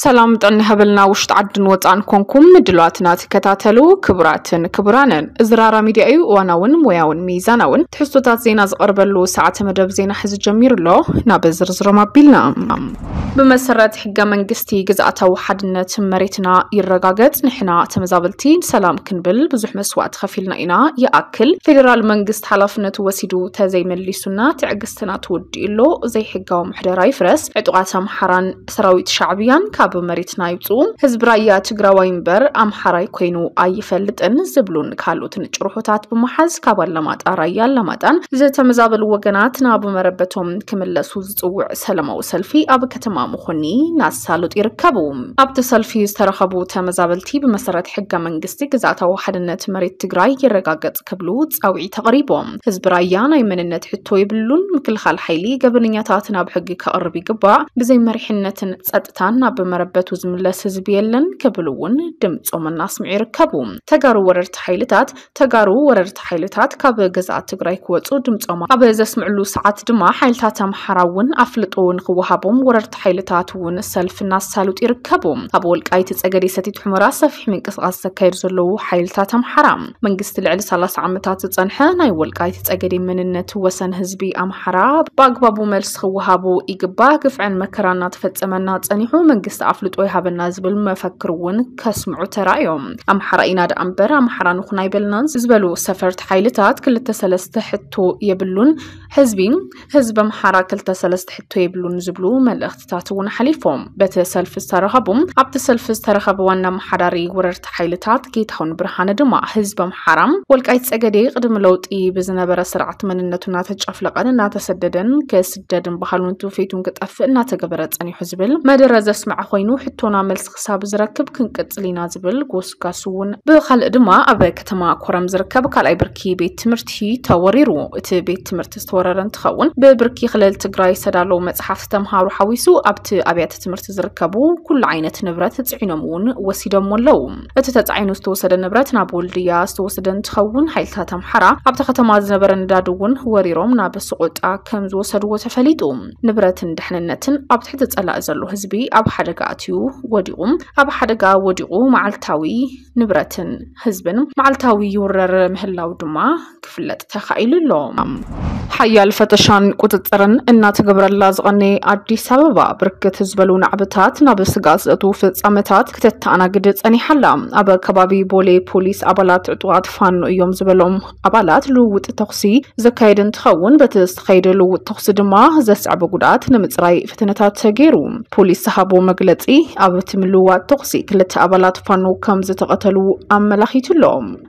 ሰላም ጥዕና ይሃበልና። ውሽጢ ዓድን ወፃእን ኮንኩም ምድላዋትና ትከታተሉ ክቡራትን ክቡራንን፣ እዚ ራራ ሚድያ እዩ። እዋናውን ሞያውን ሚዛናውን ትሕዝቶታት ዜና ዝቐርበሉ ሰዓተ መደብ ዜና ሕዚ ጀሚሩ ኣሎ። ናብ ዝርዝሮም ኣቢልና። ብመሰረት ሕገ መንግስቲ ግዝኣታዊ ሓድነት መሬትና ይረጋገጽ፣ ንሕና ተመዛበልቲ ሰላም ክንብል ብዙሕ መስዋእቲ ከፊልና ኢና። ይኣክል ፌዴራል መንግስት ሓላፍነቱ ወሲዱ ተዘይመሊሱና ትዕግስትና ተወዲኡ ኣሎ። ዘይሕጋዊ ምሕደራ ይፍረስ፣ ዕጡቓት ኣምሓራን ሰራዊት ሻዕብያን ካብ መሬትና ይውፅኡ፣ ህዝቢ ራያ ትግራዋይ እምበር ኣምሓራይ ኮይኑ ኣይፈልጥን ዝብሉን ካልኦትን ጭርሖታት ብምሓዝ ካብ ኣላማጣ ራያ ኣላማጣን ዝተመዛበሉ ወገናት ናብ መረበቶም ክምለሱ ዝፅውዕ ሰላማዊ ሰልፊ ኣብ ከተማ መኾኒ እናሳለጡ ይርከቡ። ኣብቲ ሰልፊ ዝተረኸቡ ተመዛበልቲ ብመሰረት ሕገ መንግስቲ ግዝኣታዊ ሓድነት መሬት ትግራይ ይረጋገጽ ክብሉ ጻውዒት ኣቕሪቦም። ህዝቢ ራያ ናይ መንነት ሕቶ የብሉን፣ ምክልኻል ሓይሊ ገበነኛታት ናብ ሕጊ ከቕርብ ይግባእ፣ ብዘይ መሪሕነትን ጸጥታን ናብ መረበቱ ዝምለስ ህዝቢ የለን ክብሉ እውን ድምጾም እናስምዑ ይርከቡ። ተጋሩ ወረርቲ ሓይልታት ተጋሩ ወረርቲ ሓይልታት ካብ ግዝኣት ትግራይ ክወፁ ድምፆም ኣብ ዘስምዕሉ ሰዓት ድማ ሓይልታት ኣምሓራ እውን ኣፍልጦ ንክወሃቦም ወረርቲ ሓይልታት እውን ሰልፊ እናሳለጡ ይርከቡ። ኣብ ወልቃይት ጸገዴ ሰቲት ሑመራ ሰፊሕ ምንቅስቃስ ዘካየዱ ዘለዉ ሓይልታት ኣምሓራ፣ መንግስቲ ልዕሊ ሰላሳ ዓመታት ዝጸንሐ ናይ ወልቃይት ጸገዴ መንነት ወሰን ህዝቢ ኣምሓራ ብኣግባቡ መልሲ ክወሃቦ ይግባእ፣ ግፍዕን መከራን እናተፈጸመና ጸኒሑ መንግስቲ ኣፍልጦ ይሃበና ዝብል መፈክር እውን ከስምዑ ተራእዮም። ኣምሓራ ኢና ደኣ እምበር ኣምሓራ ንኹን ኣይበልናን ዝበሉ ሰፈርቲ ሓይልታት ክልተ ሰለስተ ሕቶ የብሉን፣ ህዝቢ ህዝቢ ኣምሓራ ክልተ ሰለስተ ሕቶ የብሉን ዝብሉ መልእኽትታት እውን ሓሊፎም። በቲ ሰልፊ ዝተረኸቡ ኣብቲ ሰልፊ ዝተረኸበ ዋና ኣመሓዳሪ ወረርቲ ሓይልታት ጌታሁን ብርሃነ ድማ ህዝቢ ኣምሓራ ወልቃይት ጸገዴ ቅድሚ ለውጢ ብዝነበረ ስርዓት መንነቱ እናተጨፍለቐን እናተሰደደን ክስደድን ባህሉን ትውፊቱን ክጠፍእ እናተገበረ ጸኒሑ ዝብል መደረ ዘስመዐ ኮይኑ ሕቶና መልሲ ክሳብ ዝረክብ ክንቅጽል ኢና ዝብል ጎስጋስ እውን። ብኻልእ ድማ ኣብ ከተማ ኮረም ዝርከብ ካልኣይ ብርኪ ቤት ትምህርቲ ተወሪሩ። እቲ ቤት ትምህርቲ ዝተወረረ እንትኸውን ብብርኪ ክልል ትግራይ ዝተዳለዉ መጽሓፍቲ ተምሃሮ ሓዊሱ ኣብቲ ኣብያተ ትምህርቲ ዝርከቡ ኩሉ ዓይነት ንብረት ጽዒኖም እውን ወሲዶም ኣለዉ። እቲ ተጻዒኑ ዝተወሰደ ንብረት ናብ ወልድያ ዝተወሰደ እንትኸውን ሓይልታት ኣምሓራ ኣብታ ከተማ ዝነበረ ነዳዲ እውን ወሪሮም ናብ ስቆጣ ከም ዝወሰድዎ ተፈሊጡ። ንብረትን ድሕንነትን ኣብ ትሕቲ ጸላኢ ዘሎ ህዝቢ ኣብ ሓደጋ ኣትዩ ወዲቑ ኣብ ሓደጋ ወዲቑ መዓልታዊ ንብረትን ህዝብን መዓልታዊ ይውረር ምህላው ድማ ክፍለጥ ተኻኢሉ ኣሎ። ሓያል ፈተሻን ቁጽጽርን እናተገበረላ ዝቐነየ ኣዲስ ኣበባ ብርክት ዝበሉ ናዕብታት ናብ ስጋት ዘእትዉ ፍጻመታት ክተተኣናግድ ጸኒሓላ። ኣብ ከባቢ ቦሌ ፖሊስ ኣባላት ዕጡቓት ፋኖ እዮም ዝበሎም ኣባላት ልውውጥ ተኹሲ ዘካየደ እንትኸውን በቲ ዝተኻየደ ልውውጥ ተኹሲ ድማ ዘስዕበ ጉድኣት ንምፅራይ ፈተነታት ተገይሩ። ፖሊስ ዝሃቦ መግለፂ ኣብቲ ምልውዋጥ ተኹሲ ክልተ ኣባላት ፋኖ ከም ዝተቐተሉ ኣመላኺቱ ኣሎ።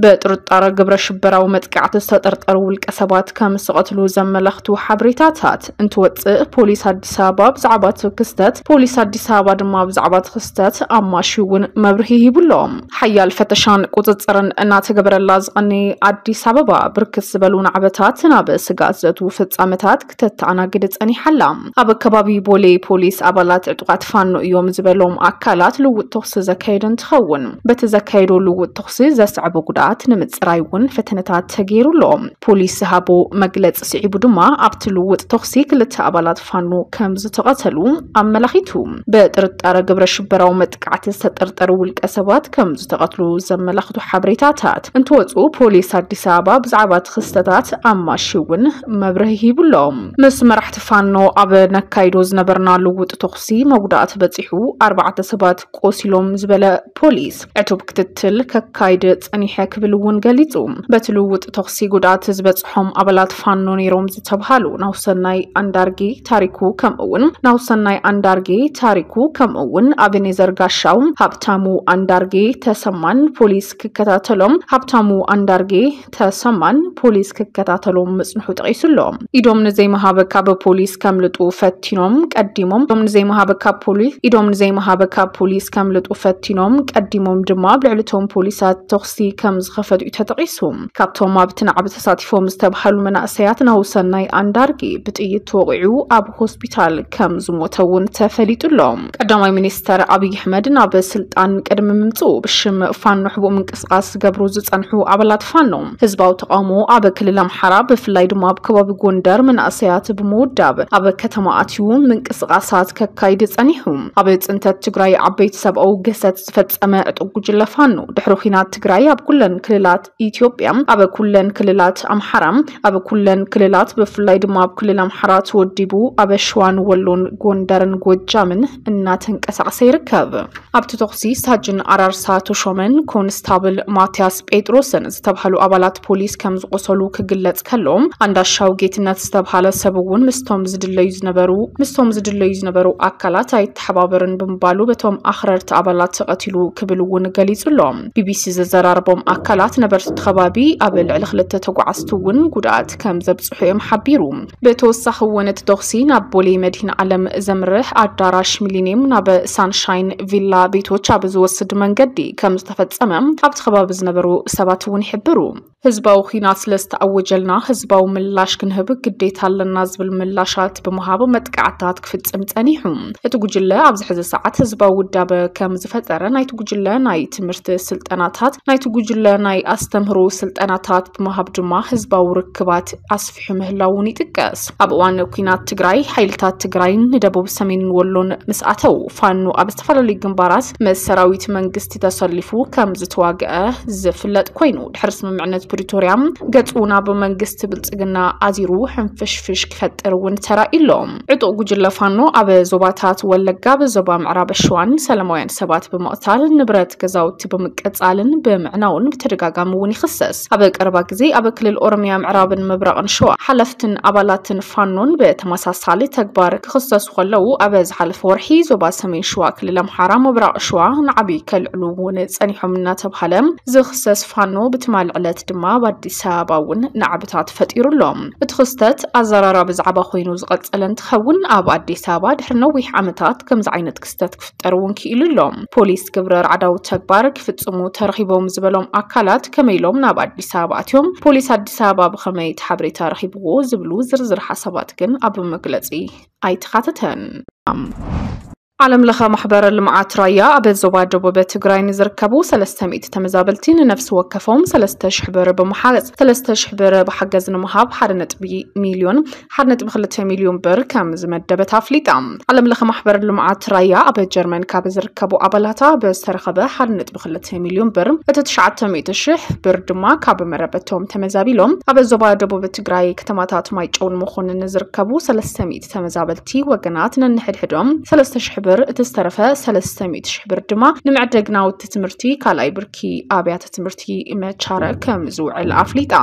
ብጥርጣረ ግብረ ሽበራዊ መጥቃዕቲ ዝተጠርጠሩ ውልቀ ሰባት ከም ዝተቐትሉ ዘመላኽቱ ሓበሬታታት እንትወፅእ ፖሊስ ኣዲስ ኣበባ ብዛዕባ እቲ ክስተት ፖሊስ ኣዲስ ኣበባ ድማ ብዛዕባ እቲ ክስተት ኣማሽዩ እውን መብርሂ ሂቡ ኣሎ። ሓያል ፈተሻን ቁፅፅርን እናተገበረላ ዝቐነየ ኣዲስ ኣበባ ብርክት ዝበሉ ናዕበታት ናብ ስጋት ዘእትዉ ፍጻመታት ክተተኣናግድ ጸኒሓላ። ኣብ ከባቢ ቦሌ ፖሊስ ኣባላት ዕጡቓት ፋኖ እዮም ዝበሎም ኣካላት ልውጥ ተኹሲ ዘካየደ እንትኸውን በቲ ዘካየዶ ልውጥ ተኹሲ ዘስዕቦ ጉድኣት ንምፅራይ እውን ፈተነታት ተገይሩ ኣሎ። ፖሊስ ዝሃቦ መግለፂ ስዒቡ ድማ ኣብቲ ልውጥ ተኹሲ ክልተ ኣባላት ፋኖ ከም ዝተቐተሉ ኣመላኺቱ። ብጥርጣረ ግብረ ሽበራዊ መጥቃዕቲ ዝተጠርጠሩ ውልቀ ሰባት ከም ዝተቐትሉ ዘመላኽቱ ሓበሬታታት እንትወፁ ፖሊስ ኣዲስ ኣበባ ብዛዕባ እቲ ክስተታት ኣማሽዩ እውን መብርሂ ሂቡ ኣሎ። ምስ መራሕቲ ፋኖ ኣብ ነካይዶ ዝነበርና ልውጥ ተኹሲ መጉዳእቲ በፂሑ ኣርባዕተ ሰባት ቆሲሎም ዝበለ ፖሊስ ዕቱብ ክትትል ከካይድ ጸኒሐ ክብል እውን ገሊጹ። በቲ ልውውጥ ተኹሲ ጉድኣት ዝበጽሖም ኣባላት ፋኖ ነይሮም ዝተብሃሉ ናውሰናይ ኣንዳርጌ ታሪኩ ከምኡ እውን ናውሰናይ ኣንዳርጌ ታሪኩ ከምኡ እውን ኣቤኔዘር ጋሻው ሃብታሙ ኣንዳርጌ ተሰማን ፖሊስ ክከታተሎም ሃብታሙ ኣንዳርጌ ተሰማን ፖሊስ ክከታተሎም ምጽንሑ ጠቒሱ ኣሎ። ኢዶም ንዘይምሃብ ካብ ፖሊስ ከምልጡ ፈቲኖም ቀዲሞም ኢዶም ንዘይምሃብ ካብ ፖሊስ ኢዶም ንዘይምሃብ ካብ ፖሊስ ከምልጡ ፈቲኖም ቀዲሞም ድማ ኣብ ልዕሊ እቶም ፖሊሳት ተኹሲ ከም ዝኸፈቱ እዩ ተጠቒሱ። ካብቶም ኣብቲ ናዕቢ ተሳቲፎም ዝተባህሉ መናእሰያት ናሁሰናይ ኣንዳርጌ ብጥይት ተወቒዑ ኣብ ሆስፒታል ከም ዝሞተ እውን ተፈሊጡ ኣሎ። ቀዳማይ ሚኒስተር ኣብይ ኣሕመድ ናብ ስልጣን ቅድሚ ምምፅኡ ብሽም ፋኖ ሕቡእ ምንቅስቃስ ዝገብሩ ዝፀንሑ ኣባላት ፋኖ ህዝባዊ ተቃውሞ ኣብ ክልል ኣምሓራ ብፍላይ ድማ ኣብ ከባቢ ጎንደር መናእሰያት ብምውዳብ ኣብ ከተማ ኣትዩ ምንቅስቃሳት ከካይድ ፀኒሑ። ኣብ ፅንተት ትግራይ ዓበይቲ ሰብኣዊ ግህሰት ዝፈፀመ ዕጡቅ ጉጅለ ፋኖ ድሕሪ ኲናት ትግራይ ኣብ ኩለን ክልላት ኢትዮጵያ፣ ኣብ ኩለን ክልላት ኣምሓራ፣ ኣብ ኩለን ክልላት ብፍላይ ድማ ኣብ ክልል ኣምሓራ ተወዲቡ ኣብ ሸዋን ወሎን ጎንደርን ጎጃምን እናተንቀሳቀሰ ይርከብ። ኣብቲ ተኹሲ ሳጅን ኣራርሳ ተሾመን ኮንስታብል ማትያስ ጴጥሮስን ዝተባህሉ ኣባላት ፖሊስ ከም ዝቆሰሉ ክግለጽ ከሎ፣ ኣንዳሻው ጌትነት ዝተባሃለ ሰብ እውን ምስቶም ዝድለዩ ዝነበሩ ምስቶም ዝድለዩ ዝነበሩ ኣካላት ኣይተሓባበርን ብምባሉ በቶም ኣኽረርቲ ኣባላት ተቐቲሉ ክብል እውን ገሊጹ ኣሎ። ቢቢሲ ዘዘራረቦም ኣካላት ነበርቲ እቲ ከባቢ ኣብ ልዕሊ ክልተ ተጓዓዝቲ እውን ጉድኣት ከም ዘብጽሑ እዮም ሓቢሩ። ብተወሳኺ እውን እቲ ተኹሲ ናብ ቦሌ መድህን ዓለም ዘምርሕ ኣዳራሽ ሚሊኒየም ናብ ሳንሻይን ቪላ ቤቶች ኣብ ዝወስድ መንገዲ ከም ዝተፈጸመ ኣብቲ ከባቢ ዝነበሩ ሰባት እውን ይሕብሩ። ህዝባዊ ኲናት ስለ ዝተኣወጀልና ህዝባዊ ምላሽ ክንህብ ግዴታ ኣለና ዝብል ምላሻት ብምሃብ መጥቃዕታት ክፍጽም ጸኒሑ። እቲ ጉጅለ ኣብዚ ሕዚ ሰዓት ህዝባዊ ውዳበ ከም ዝፈጠረ ናይቲ ጉጅለ ናይ ትምህርቲ ስልጠናታት ናይቲ ጉጅለ ናይ ኣስተምህሮ ስልጠናታት ብምሃብ ድማ ህዝባዊ ርክባት ኣስፊሑ ምህላውን ይጥቀስ። ኣብ እዋን ኲናት ትግራይ ሓይልታት ትግራይን ንደቡብ ሰሜንን ወሎን ምስ ኣተው ፋኖ ኣብ ዝተፈላለዩ ግንባራት ምስ ሰራዊት መንግስቲ ተሰሊፉ ከም ዝተዋግአ ዝፍለጥ ኮይኑ ድሕሪ ስምምዕነት ፕሪቶርያ ገጹ ናብ መንግስቲ ብልጽግና ኣዚሩ ሕንፍሽፍሽ ክፈጥር እውን ተራእዩ ኣሎ። ዕጡቕ ጉጅለ ፋኖ ኣብ ዞባታት ወለጋ ብዞባ ምዕራብ ሸዋን ሰላማውያን ሰባት ብምቕታል ንብረት ገዛውቲ ብምቅጻልን ብምዕናውን ብተደጋጋሚ እውን ይኽሰስ። ኣብ ቀረባ ግዜ ኣብ ክልል ኦሮሚያ ምዕራብን ምብራቕን ሸዋ ሓለፍትን ኣባላትን ፋኖን ብተመሳሳሊ ተግባር ክኽሰሱ ከለዉ ኣብ ዝሓለፈ ወርሒ ዞባ ሰሜን ሸዋ ክልል ኣምሓራ ምብራቕ ሸዋ ንዓቢ ከልዕሉ እውን ጸኒሖም እናተባሃለ ዝኽሰስ ፋኖ ብትማሊ ዕለት ድማ ኣብ ኣዲስ ኣበባ እውን ናዕብታት ፈጢሩ ኣሎ። እቲ ክስተት ኣዘራራቢ ዛዕባ ኮይኑ ዝቐጸለ እንትኸውን ኣብ ኣዲስ ኣበባ ድሕሪ ነዊሕ ዓመታት ከምዚ ዓይነት ክስተት ክፍጠር እውን ክኢሉ ኣሎ። ፖሊስ ግብረ ራዕዳዊ ተግባር ክፍጽሙ ተረኺቦም ዝበሎም ኣካላት ከመይ ኢሎም ናብ ኣዲስ ኣበባ ኣትዮም? ፖሊስ ኣዲስ ኣበባ ብኸመይ እቲ ሓበሬታ ረኺብዎ ዝብሉ ዝርዝር ሓሳባት ግን ኣብ መግለጺ ኣይተኻተተን። ዓለም ለኸ ማሕበር ልምዓት ራያ ኣብ ዞባ ደቡብ ትግራይ ንዝርከቡ ሰለስተ ሚእቲ ተመዛበልቲ ንነፍሲ ወከፎም ሰለስተ ሽሕ ብር ብምሓዝ ሰለስተ ሽሕ ብር ብሓገዝ ንምሃብ ሓደ ነጥቢ ሚልዮን ሓደ ነጥቢ ክልተ ሚልዮን ብር ከም ዝመደበት ኣፍሊጣ። ዓለም ለኸ ማሕበር ልምዓት ራያ ኣብ ጀርመን ካብ ዝርከቡ ኣባላታ ብዝተረኸበ ሓደ ነጥቢ ክልተ ሚልዮን ብር እቲ ትሽዓተ ሚእቲ ሽሕ ብር ድማ ካብ መረበቶም ተመዛቢሎም ኣብ ዞባ ደቡብ ትግራይ ከተማታት ማይጨውን መኾንን ዝርከቡ ሰለስተ ሚእቲ ተመዛበልቲ ወገናት ነንሕድሕዶም ሰለስተ ሽሕ ብር፣ እቲ ዝተረፈ ሰለስተ ሚእቲ ሽሕ ብር ድማ ንመዕደግ ናውቲ ትምህርቲ ካልኣይ ብርኪ ኣብያተ ትምህርቲ መቻረ ከም ዝውዕል ኣፍሊጣ።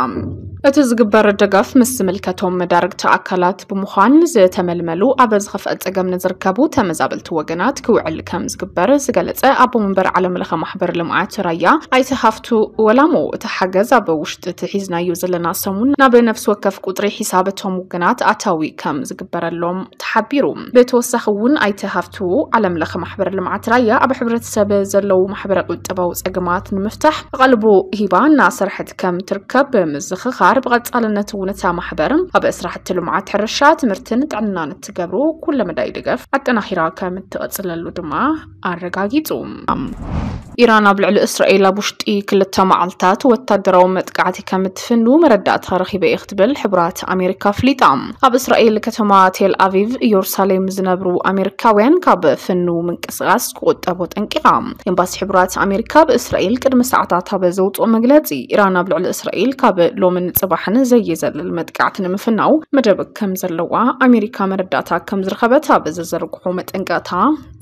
እቲ ዝግበር ደገፍ ምስ ዝምልከቶም መዳርግቲ ኣካላት ብምዃን ዝተመልመሉ ኣብ ዝኸፍአ ጸገም ንዝርከቡ ተመዛበልቲ ወገናት ክውዕል ከም ዝግበር ዝገለጸ ኣቦ መንበር ዓለም ለኸ ማሕበር ልምዓት ራያ ኣይተ ሃፍቱ ወላሞ፣ እቲ ሓገዝ ኣብ ውሽጢ እቲ ሒዝናዮ ዘለና ሰሙን ናብ ነፍሲ ወከፍ ቁጽሪ ሒሳብ እቶም ወገናት ኣታዊ ከም ዝግበረሎም ተሓቢሩ። ብተወሳኺ እውን ኣይተ ሃፍቱ ዓለም ለኸ ማሕበር ልምዓት ራያ ኣብ ሕብረተሰብ ዘለዉ ማሕበረ ቁጠባዊ ጸገማት ንምፍታሕ ኣቓልቦ ሂባ እናሰርሐት ከም ትርከብ ብምዝኽኻር ብቐጻልነት እውን እታ ማሕበር ኣብ ስራሕቲ ልምዓት ሕርሻ፣ ትምህርትን ጥዕናን እትገብሮ ኩለመዳይ ደገፍ ኣጠናኺራ ከም እትቐጽለሉ ድማ ኣረጋጊጹ። ኢራን ኣብ ልዕሊ እስራኤል ኣብ ውሽጢ ክልተ መዓልታት ወታደራዊ መጥቃዕቲ ከም እትፍኑ መረዳእታ ረኺበ እየ ክትብል ሕቡራት ኣሜሪካ ኣፍሊጣ። ኣብ እስራኤል ከተማ ቴል ኣቪቭ፣ ኢየሩሳሌም ዝነብሩ ኣሜሪካውያን ካብ ፍኑ ምንቅስቃስ ክቑጠቡ ጠንቂቓ። ኤምባሲ ሕቡራት ኣሜሪካ ብእስራኤል ቅድሚ ሰዓታት ኣብ ዘውፅኦ መግለፂ፣ ኢራን ኣብ ልዕሊ እስራኤል ካብ ሎምን ፅባሕን ዘየዘልል መጥቃዕቲ ንምፍናው መደብ ከም ዘለዋ ኣሜሪካ መረዳእታ ከም ዝረኸበት ኣብ ዘዘርግሖ መጠንቀቕታ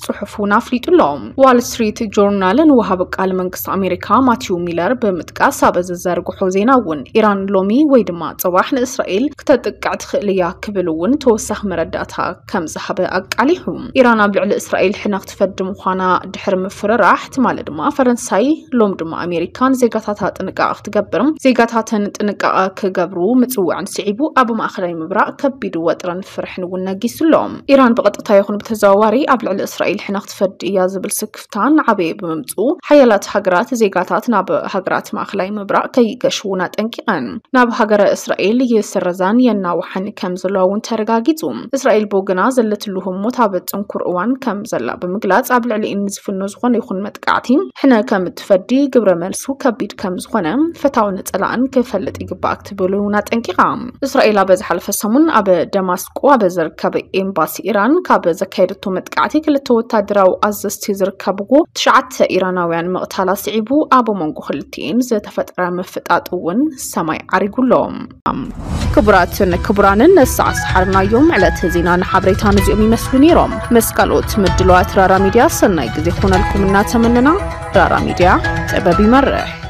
ጽሑፍ እውን ኣፍሊጡ ኣሎ። ዋል ስትሪት ጆርናል ንወሃቢ ቃል መንግስቲ ኣሜሪካ ማቲው ሚለር ብምጥቃስ ኣብ ዝዘርግሖ ዜና እውን ኢራን ሎሚ ወይ ድማ ጽባሕ ንእስራኤል ክተጥቅዕ ትኽእል እያ ክብል እውን ተወሳኺ መረዳእታ ከም ዝሃበ ኣቃሊሑ። ኢራን ኣብ ንእስራኤል ሕነ ክትፈዲ ምዃና ድሕሪ ምፍርራሕ፣ ትማሊ ድማ ፈረንሳይ፣ ሎም ድማ ኣሜሪካ ንዜጋታታ ጥንቃቐ ክትገብር፣ ዜጋታተን ጥንቃቐ ክገብሩ ምጽውዕን ስዒቡ፣ ኣብ ማእኸላይ ምብራቕ ከቢድ ወጥርን ፍርሕን እውን ነጊሱ ኣሎ። ኢራን ብቐጥታ ይኹን ብተዘዋዋሪ ኣብ ልዕሊ እስራኤል ሕነ ክትፈዲ እያ ዝብል ስክፍታ እናዓበየ ብምምጽኡ፣ ሓያላት ሃገራት ዜጋታት ናብ ሃገራት ማእኸላይ ምብራቕ ከይገሽዉን ኣጠንቂቐን። ናብ ሃገረ እስራኤል ይስረዛን የናውሓን ከም ዘለዋ እውን ተረጋጊጹ። እስራኤል ብወገና ዘለትሉ ህሞት ኣብ ጽንኩር እዋን ከም ዘላ ብምግላጽ፣ ኣብ ልዕሊኤን ንዝፍኖ ዝኾነ ይኹን መጥቃዕቲ ሕነ ከም እትፈዲ፣ ግብረ መልሱ ከቢድ ከም ዝኾነ ፈታውን ጸላእን ክፈልጥ ይግባእ ክትብል እውን ኣጠንቂቓ። እስራኤል ኣብ ዝሓለፈ ሰሙን ኣብ ደማስቆ ኣብ ዝርከብ ኤምባሲ ኢራን ካብ ዘካየደቶ መጥቃዕቲ ክልተ ወታደራዊ ኣዘዝቲ ዝርከብዎ ትሽዓተ ኢራናውያን ምቕታላ ስዒቡ፣ ኣብ መንጎ ክልቲኤን ዝተፈጥረ ምፍጣጥ እውን ሰማይ ዓሪጉ ኣሎ። ክቡራትን ክቡራንን፣ ንሰዓት ዝሓርናዮም ዕለት ዜናን ሓበሬታን እዚኦም ይመስሉ ነይሮም። ምስ ካልኦት ምድለዋት ራራ ሚድያ ሰናይ ግዜ ክኾነልኩም እናተመነና፣ ራራ ሚድያ ጥበብ ይመርሕ።